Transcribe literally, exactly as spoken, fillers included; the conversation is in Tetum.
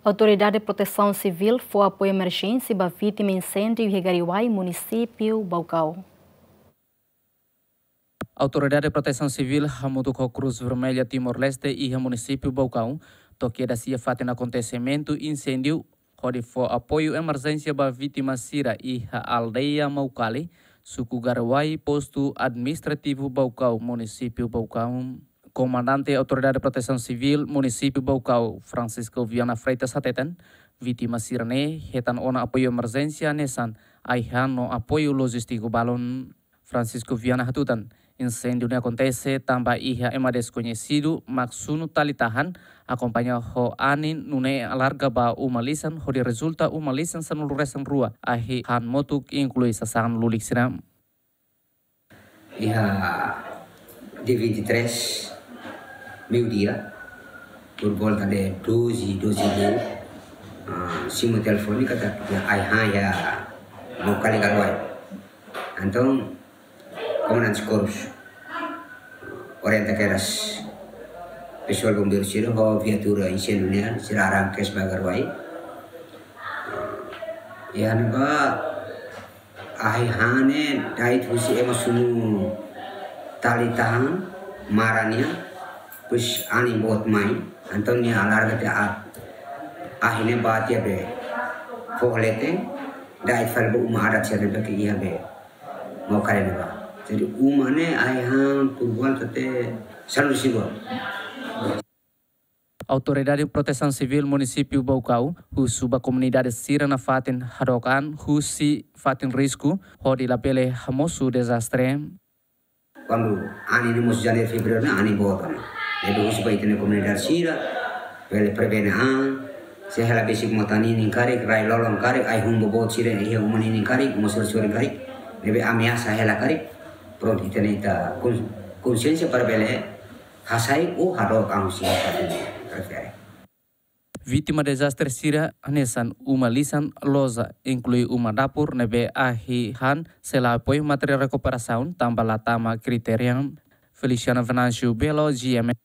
Autoridade Protesaun Sivíl fó apoiu emerjénsia ba vítima insêndiu iha Gariuai, munisípiu Baucau. Autoridade Protesaun Sivíl hamutuk ho Cruz Vermelha Timor-Leste iha munisípiu Baucau to'o kedas iha fatin akontesimentu insêndiu, hodi fó apoiu emerjénsia ba vítima sira iha aldeia Maucali, suku Gariuai, postu administrativu Baucau, munisípiu Baucau. Komandante Autoridade Protesaun Sivíl munisípiu Baucau, Francisco Viana Freitas, hateten, vítima sira-ne'e hetan ona apoiu emerjénsia hanesan ai-han no apoiu lojístiku balun. Francisco Viana hatutan, insêndiu ne'e akontese tanba iha ema deskoñesidu mak sunu tali tahan, akompaña ho anin, nune'e alarga ba uma lisan, hodi rezulta uma lisan sanulu-resin-rua, ahi-han motuk, inklui sasán lulik sira. Iha dia vinte e três, meio-dia, por volta de doze, doze e meia, ah, simu telefone katak iha ai-han iha Maucali, Gariuai. Entaun, Komandante Korus orienta kedas pesoál bombeiru sira ho viatura insêndiu nian, sira arranka kedas ba Gariuai. Iha ne'ebá ai-han ne'e da'et husi ema sunu tali tahan, mara nian, depois anin boot mai, entaun nia alarga tiha aat. Ahi ne'e bá tiha be foho leten, da'et fali ba uma adat sira ne'ebé ke iha be Maucali ne'ebá. Jadi uma ne'e ai-han por volta de sanulu-resin-rua. Autoridade Protesaun Sivíl munisípiu Baucau husu ba komunidade sira nafatin hadook an husi fatin risku, hodi labele hamosu dezastre. Kuandu anin ne'e mosu Janeiru, Fevereiru ne'e anin boot ona. Ne'ebé husu ba ita-nia komunidade sira bele prevene an. Se hela besik mota ninin karik, rai-lolon karik, ai-hun boboot sira iha uma ninin karik, uma sorin-sorin karik, ne'ebé ameasa hela karik, prontu ita-nia, ita kon-, konsiénsia para bele hasai ou hadook an husi fatin refere. Vítima dezastre sira hanesan uma lisan, loja, inklui uma dapur ne'ebé ahi-han sei la apoiu materiál rekuperasaun tanba la tama kritéria. Feliciano Venâncio Belo, G M N.